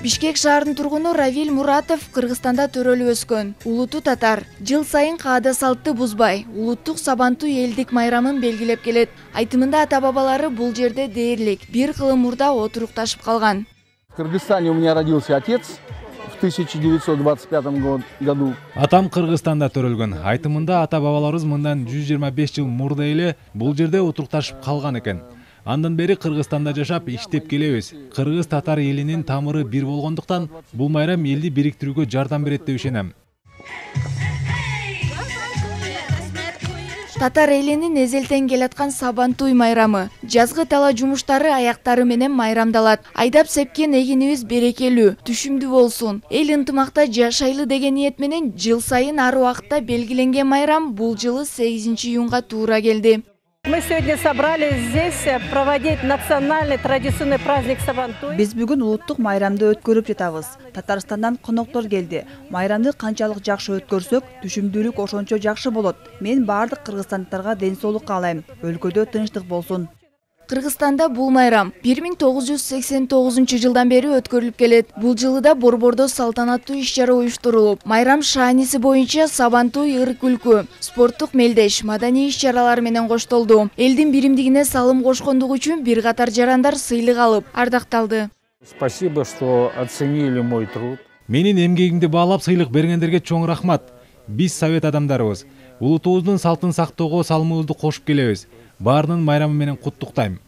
Бишкек шаарынын тургуну Равиль Муратов Кыргызстанда төрөлүп өскөн. Улуту татар. Жыл сайын каада салтты бузбай, улуттук Сабантуй элдик майрамын белгилеп келет. Айтымында ата-бабалары бул жерде дээрлик бир кылым мурда отурукташып калган. В Кыргызстане у меня родился отец в 1925 году. Атам Кыргызстанда төрөлгөн. Айтымында ата-бабаларыбыз мындан 125 жыл мурда эле бул жерде отурукташып калган экен. Андан бери Кыргызстанда жашап, иштеп келебиз. Кыргыз татар элинин тамыры бир болгондуктан бул майрам элди бириктирүүгө жардам берет деп ишенем. Татар элинин эзелтен келаткан Сабантуй майрамы. Жазгы тала жумуштары аяктары менен майрамдалат. Айдап сепкен эгинибиз берекелүү, түшүмдүү болсун. Эл ынтымакта жашайлы деген ниет менен жыл сайын ар убакытта белгиленген майрам бул жылы 8 июнга туура келди. Мы сегодня собрались здесь проводить национальный традиционный праздник Сабантуй. Биз бүгүн улуттук майрамды өткөрүп жатабыз. Татарстандан коноктор келди. Майрамды канчалык жакшы өткөрсөк, түшүмдүүлүк ошончо жакшы болот. Мен бардык кыргызстандыктарга ден соолук каалайм. Өлкөдө тынчтык болсун. Кыргызстанда бул майрам 1989 жылдан бери өткөрүлүп келет. Бул жылы да Борбордо салтанаттуу иш-чара уюштурулуп, майрам шааниси боюнча Сабантуй ыры-күлкү, спорттук мелдеш, маданий иш-чаралар менен коштолду. Элдин биримдигине салым кошкондугу үчүн бир катар жарандар сыйлык алып, ардакталды. Спасибо, что оценили мой труд. Менин эмгегимди баалап сыйлык бергендерге чоң рахмат. Биз совет адамдарыбыз. Улутубуздун салтын сактоого салымыбызды кошуп келебиз. Баарынын майрамы менен куттуктайм.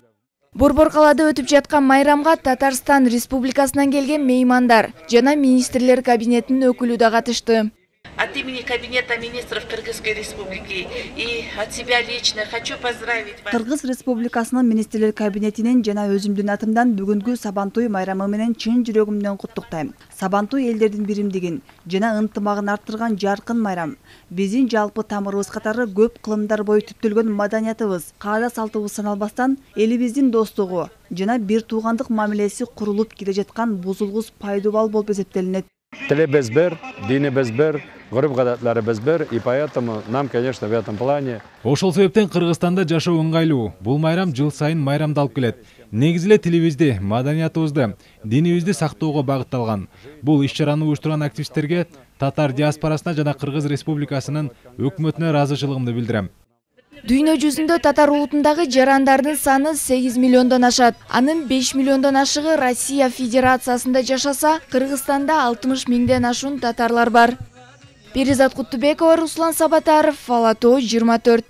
Борбор калаада өтүп жаткан майрамга Татарстан Республикасынан келген меймандар жана министрлер кабинетинин өкүлү да катышты. От имени Кабинета министров Кыргызской Республики и от себя лично хочу поздравить вас. Кыргыз Республикасынын министрлер кабинетинен жана өзүмдүн атымдан бүгүнкү Сабантуй майрамы менен чын жүрөгүмдөн куттуктайм. Сабантуй элдердин биримдигин жана ынтымагын арттырган жаркын майрам. Биздин жалпы тамырыбыз катары көп кылымдар бою түптөлгөн маданиятыбыз, каада салтыбыз саналбастан элибиздин достугу жана бир туугандык мамилеси курулуп келе жаткан бузулгус пайдубал болуп эсептелинет. Тилибиз бир, динибиз бир, урп-гадатларыбыз бир, и поэтому нам, конечно, в этом плане. Ошол себептен Кыргызстанда жашоо ыңгайлуу. Бул майрам жыл сайын майрамдалып келет. Негизи эле тилибизди, маданиятыбызды, динибизди сактоого багытталган. Бул иш-чараны уюштурган активисттерге, татар диаспорасына жана Кыргыз Республикасынын өкмөтүнө ыраазычылыгымды билдирем. Дүйнө жүзүндө татар улутундагы жарандардын саны 8 миллиондон ашат. Анын 5 миллиондон ашыгы Россия Федерациясында жашаса, Кыргызстанда 60 миңден ашуун татарлар бар. Перизат Куттубекова, Руслан Сабатаров, Ала Тоо 24.